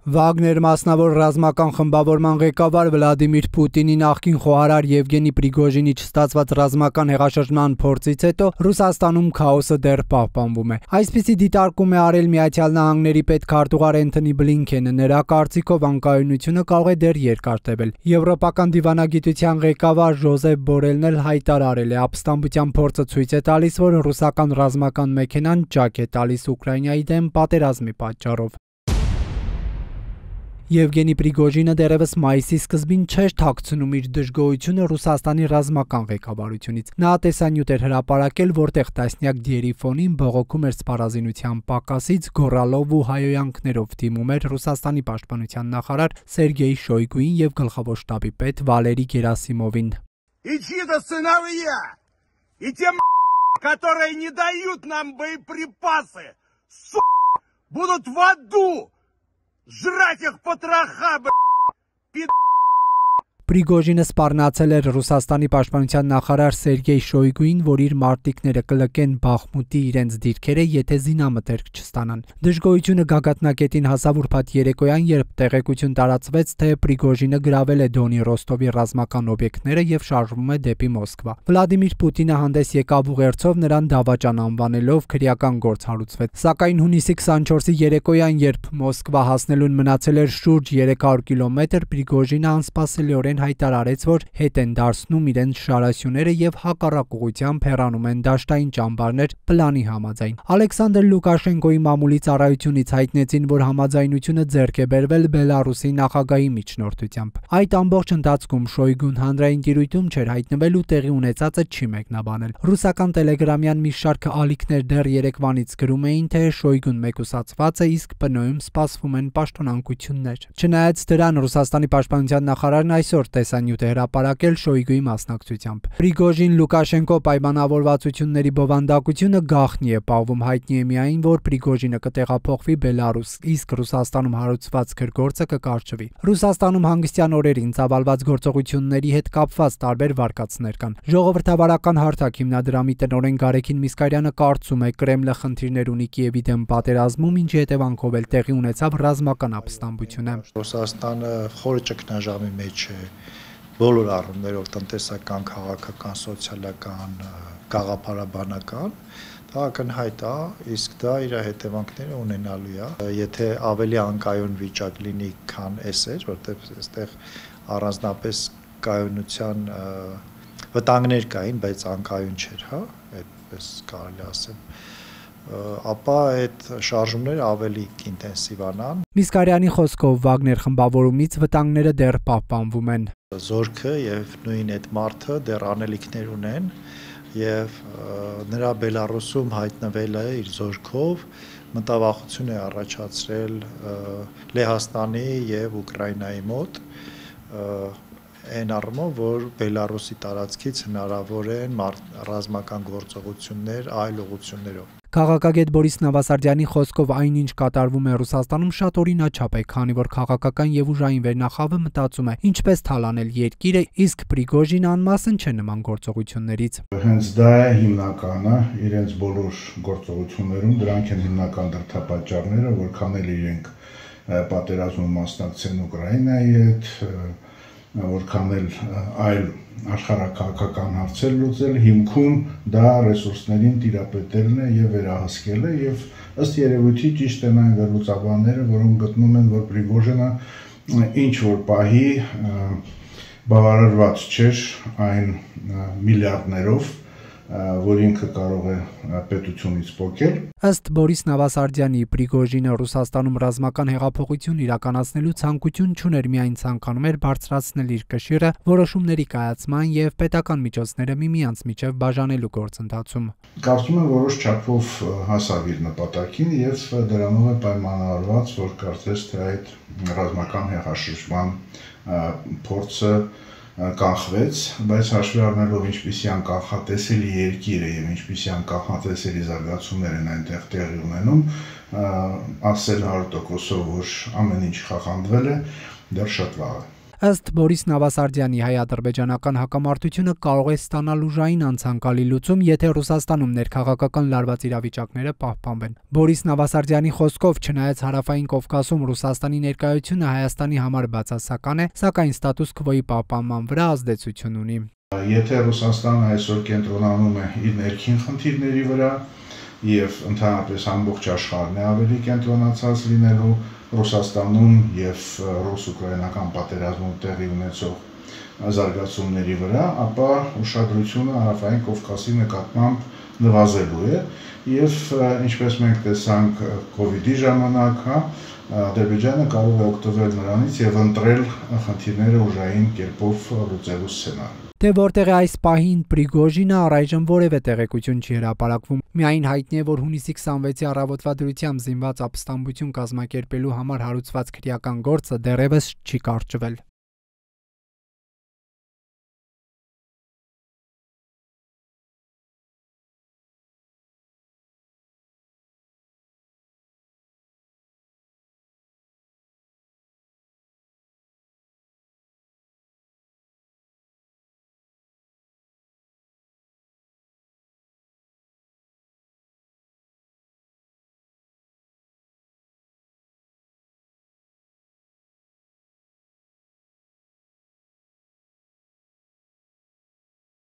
Վագներ մասնավոր ռազմական խմբավորման ղեկավար Վլադիմիր Պուտինի նախկին խոհարար Եվգենի Պրիգոժինի չստացված ռազմական հեղաշրջման փորձից հետո Ռուսաստանում քաոսը դեռ պահպանվում է։ Այսպիսի դիտարկում է արել Միացյալ Նահանգների պետքարտուղար Էնթոնի Բլինքենը։ Նրա կարծիքով անկայունությունը կարող է դեռ երկար տևել։ Եվրոպական դիվանագիտության ղեկավար Ժոզեփ Բորելն էլ հայտարարել է, ապստամբության փորձը ցույց է տալիս, որ ռուսական ռազմական մեքենան ճաք է տալիս Ուկրաինայի դեմ պատերազմի պատճառով։ Եվգենի Պրիգոժինը դեռևս մայիսի սկզբին չէր թաքցնում իր դժգոհությունը Ռուսաստանի ռազմական ղեկավարությունից։ Նա տեսանյութ էր հրապարակել, որտեղ տասնյակ դիերի ֆոնին բողոքում էր սպառազինության պակասից, գոռալով ու հայոյանքներով դիմում էր Ռուսաստանի պաշտպանության նախարար Սերգեյ Շոյգուին եւ գլխավոր շտաբի պետ Վալերի Գերասիմովին։ Которые не дают нам боеприпасы, будут в аду жрать их потроха, Պրիգոժինը սպառնացել էր Ռուսաստանի պաշտպանության նախարար Սերգեյ Շոյգուին, որ իր մարտիկները կլկեն Բախմուտի իրենց դիրքերը, եթե զինամթերք չստանան։ Դժգոհությունը գագաթնակետին հասավ ուրբաթ երեկոյան, երբ տեղեկություն տարածվեց, թե Պրիգոժինը գրավել է Դոնի Ռոստովի ռազմական օբյեկտները եւ շարժվում է դեպի Մոսկվա։ Վլադիմիր Պուտինը հանդես եկավ ուղերձով նրան դավաճան անվանելով, քրեական գործ հարուցվեց։ Սակայն հունիսի 24-ի երեկոյան, երբ Մոսկվա հասնելուն մնացել էր շուրջ 300 կիլոմետր, Պրիգոժինը անսպասելիորեն հայտարարեց, որ հետ են դարձնում իրենց շարասյուները եւ հակառակ ուղղությամբ հեռանում են դաշտային ճամբարներ պլանի համաձայն։ Ալեքսանդր Լուկաշենկոյի մամուլի ծառայությունից հայտնեցին, որ համաձայնությունը ձեռք է բերվել Բելարուսի նախագահի միջնորդությամբ։ Այդ ամբողջ ընթացքում Շոյգուն հանրային տիրույթում չէր հայտնվել ու տեղի ունեցածը չի մեկնաբանել։ Ռուսական տելեգրամյան մի շարք ալիքներ դեռ Երևանից գրում էին, թե Շոյգուն մեկուսացված է, իսկ ՊՆ-ում սպասվում են պաշտոնանկություններ։ Չնայած դրան, Ռուսաստանի պաշտպանության նախարարն այսօր տեսանյութ է հրապարակել Շոյգուի մասնակցությամբ։ Պրիգոժին-Լուկաշենկո պայմանավորվածությունների բովանդակությունը գաղտնի է պահվում, հայտնի է միայն, որ Պրիգոժինը կտեղափոխվի Բելարուս, իսկ Ռուսաստանում հարուցված գրգործը կկարճվի։ Ռուսաստանում հանգստյան օրերին ծավալված գործողությունների հետ կապված տարբեր վարկածներ կան։ Ժողովրդավարական հարթակ հիմնադրամի տնօրեն Գարեգին Միսկարյանը կարծում է, Կրեմլը խնդիրներ ունի Կիևի դեմ պատերազմում, ինչի հետևանքով էլ տեղի ունեցավ ռազմական ապստամբությունը։ Ռուսաստանը խորը ճգնաժամի մեջ է բոլոր առումներով, տնտեսական, քաղաքական, սոցիալական, գաղափարաբանական, դա ակնհայտ է, իսկ դա իր հետևանքները ունենալու է, եթե ավելի անկայուն վիճակ լինի, քան էս էր, որտեղ այստեղ առանձնապես կայունության վտանգներ կային, բայց անկայուն չէր, հա, այդպես կարելի ասել, ապա այդ շարժումները ավելի ինտենսիվանան։ Միսկարյանի խոսքով Վագներ խմբավորումից վտանգները դեռ պահպանվում են։ Զորքը եւ նույն այդ մարդը դեռ անելիքներ ունեն եւ նրա Բելարուսում հայտնվելը իր զորքով մտավախություն է առաջացրել Լեհաստանի եւ Ուկրաինայի մոտ այն առումով, որ Բելարուսի տարածքից հնարավոր են ռազմական գործողություններ այլ ուղղություններով։ Քաղաքագետ Բորիս Նավասարդյանի խոսքով այնինչ կատարվում է Ռուսաստանում շատ օրինաչափ է, քանի որ քաղաքական եւ ուժային վերնախավը մտածում է ինչպես թալանել երկիրը, իսկ Պրիգոժինը անմասն չէ նման գործողություններից։ Հենց դա է հիմնականը իրենց բոլոր գործողություններում, դրանք են հիմնական դրդապատճառները, որքան էլ իրենք պատերազմում մասնակցեն Ուկրաինայի հետ, որքան էլ այլ աշխարհակաղակական հարցեր լուծել, հիմքում դա ռեսուրսներին տիրապետելն է եւ վերահսկելը եւ ըստ երևույթի ճիշտ են այն վերլուծաբանները, որոնք գտնում են, որ Պրիգոժինը ինչ որ պահի բավարարված չէր այն միլիարդներով, որ ինքը կարող է պետությունից փոխել։ Ըստ Բորիս Նավասարդյանի, Պրիգոժինը Ռուսաստանում ռազմական հեղափոխություն իրականացնելու ցանկություն չուներ, միայն ցանկանում էր բարձրացնել իր կշիռը որոշումների կայացման եւ պետական միջոցները միմյանց միջև բաժանելու գործընթացում։ Կարծում եմ որոշ չափով հասավ իր նպատակին եւ դրանով է պայմանավորված, որ կարծես թե այդ ռազմական հեղաշրջման փորձը կանխվեց, բայց հաշվի առնելով ինչպիսի անկանխատեսելի երկիր է եւ ինչպիսի անկանխատեսելի զարգացումներ են այնտեղ տեղի ունենում, ասել 100%-ով, որ ամեն ինչ խախանդվել է, դեռ շատ վաղ է։ Ըստ Բորիս Նավասարդյանի հայ-ադրբեջանական հակամարտությունը կարող է ստանալ ուժային անցանկալի լուծում, եթե Ռուսաստանում ներքաղաքական լարված իրավիճակները պահպանվեն։ Բորիս Նավասարդյանի խոսքով, չնայած հարավային Կովկասում Ռուսաստանի ներկայությունը Հայաստանի համար բացասական է, սակայն ստատուս քվոյի պահպանման վրա ազդեցություն ունի։ Եթե Ռուսաստանը այսօր կենտրոնանում է իր ներքին խնդիրների վրա եւ ընդհանրապես ամբողջ աշխարհն է ավելի կենտրոնացած լինելու Ռուսաստանում եւ ռուս-ուկրաինական պատերազմում տեղի ունեցող զարգացումների վրա, ապա ուշադրությունը հարավային Կովկասի նկատմամբ նվազելու է եւ ինչպես մենք տեսանք COVID-ի ժամանակ, Ադրբեջանը կարող է օգտվել նրանից եւ ընտրել խնդիրները ուժային կերպով լուծելու սցենար։ Թե որտեղ է այս պահին Պրիգոժինը, առայժմ որևէ տեղեկություն չի հրապարակվում։ Միայն հայտնի է, որ հունիսի 26-ի առավոտվա դրությամբ զինված ապստամբություն կազմակերպելու համար հարուցված քրեական գործը դեռևս չի կարճվել։